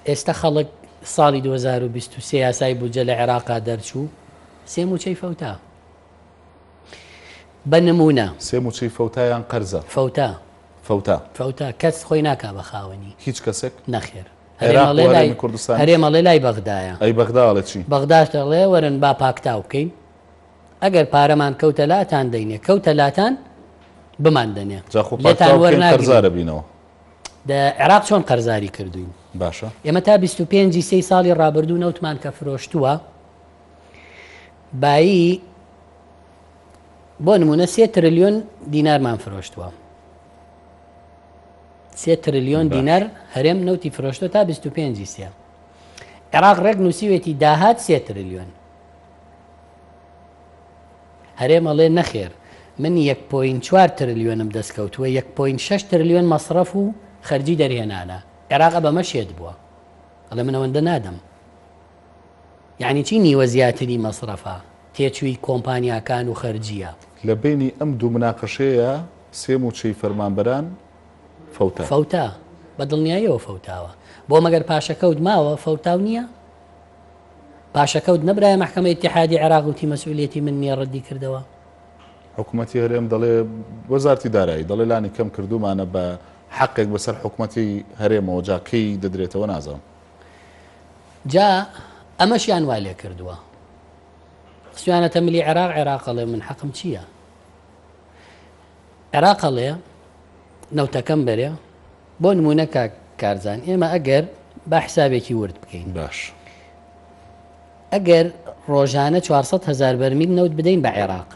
ئێستا خەڵک ساڵی 2023 یاسای بودجە لە عێراقا دەرچوو، سێ مووچەی فەوتا. بە نموونە. سێ مووچەی فەوتا یان قەرزە؟ فەوتا. فەوتا. فەوتا، کەس خۆی ناکا بە خاوەنی. هیچ کەسێک؟ نەخێر. عێراق و هەرێمی کوردستانیش؟ هەرێم ئەڵێ لای بەغدایە. ئەی بەغدا ئەڵێ چی؟ بەغداش دەڵێ وەرن با پاکتاو بکەین، ئەگەر پارەمان کەوتە لاتان دەینێ، کەوتە لاتان بمان دەنێ. جا خۆ پاکتاو بکەین قەرزارە بینەوە. دە عێراق چۆن قەرزاری کردوین؟ باشە. ئێمە تا 25 ی سێی ساڵی ڕابردوو نەوتمان کە فرۆشتووە بایی بۆ نمونە سێ ترلیۆن دینارمان فرۆشتووە. سێ ترلیۆن دینار هەرێم نەوتی فرۆشتوە تا 25 ی سێ. عێراق ڕێک نووسیوێتی داهات سێ ترلیۆن. هەرێم ئەڵێ نەخێر من یەک point چوار ترلیۆنم دەست کەوتووە، یەک point شەش ترلیۆن مەسرەف و خەرجی دەرهێنانە، عێراق بەمە شێت بووە، ئەڵێ من ئەوەندە نادەم. یعنی چی نیوە زیاتری مەسرەفە، تێچووی کۆمپانیاکان و خەرجییە. لە بەینی ئەم دوو مناقەشەیە سێ مووچەی فەرمانبەران فەوتا. فەوتا، بە دڵنیاییەوە فەوتاوە. بۆ مەگەر پاشەکەوت ماوە، فەوتاو نییە؟ پاشەکەوت نەبرایە مەحکەمەی ئیتیحادی عێراق وتی مەسئولیەتی من نییە ڕەدی کردەوە. حکومەتی هەرێم دەڵێ وەزارتی دارایی دەڵێ لانی کەم کردومانە بە حەقێک بەسەر حکومەتی هەرێمەوە جا کەی دەدرێتەوە نازانم. جا ئەمەشیان وا لێ کردووە خستویانەتە ملی عێراق عێراق ئەڵێ من حەقم چییە؟ عێراق ئەڵێ نەوتەکەم بەرێ بۆ نمونە کاک کارزان ئێمە ئەگەر با حسابێکی ورد بکەین باش ئەگەر ڕۆژانە 400 هزار بەرمیل نەوت بدەین بە عێراق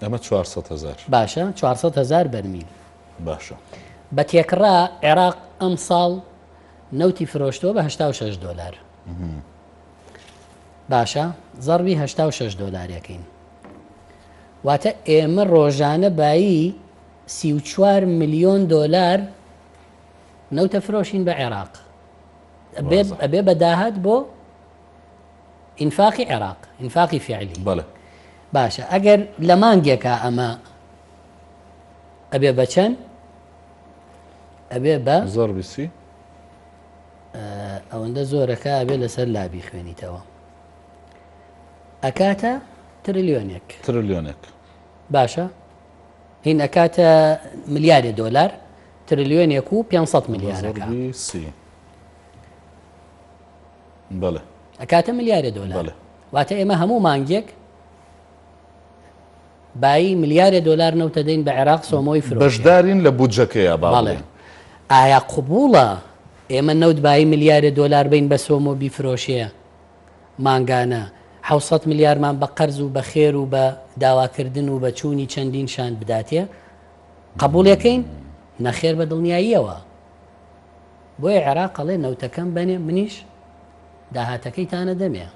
ئەمە 400 هزار باشە 400 هزار بەرمیل باشە بە تێکڕا عێراق ئەم ساڵ نەوتی فرۆشتووە بە 86 دلار باشە زەڕبی 86 دلارەکەین واتە ئێمە ڕۆژانە بایی 34 ملیۆن دۆلار نەوتە فرۆشین بە عێراق ئەبێ بە داهات بۆ ئینفاقی عێراق ئینفاقی فعلی بەڵێ باشە ئەگەر لە مانگێکا ئەمە ئەبێ بە چەند ئەبێ بە زۆر بیسی ئەوەندە زۆرەکە ئەبێ لەسەر لابی خوێنیتەوە ئەکاتە ترلیۆنێک ترلیۆنێک باشە هین ئەکاتە ملیارێ دۆلار ترلیۆنێک و 500 ملیارەکە بەڵێ ئەکاتە ملیارێ دۆلار واتە ئێمە هەموو مانگێک بایی ملیارێ دۆلار نەوتە دەین بە عێراق سۆمۆی فرۆشێ. بەشدارین لە بودجەکەیا با بەڵێ. بڵێین. ئایا قبوڵە ئێمە نەوت بایی ملیارێ دۆلار بەین بە سۆمۆ بیفرۆشێ مانگانە 700 ملیارمان بە قەرز و بە خێر و بە داواکردن و بە چوونی چەندین شاند بداتێ؟ قبوڵیەکەین؟ نەخێر بە دڵنیاییەوە. بۆیە عێراق ئەڵێ نەوتەکەم بەنێ منیش داهاتەکەیتانە دەمێ.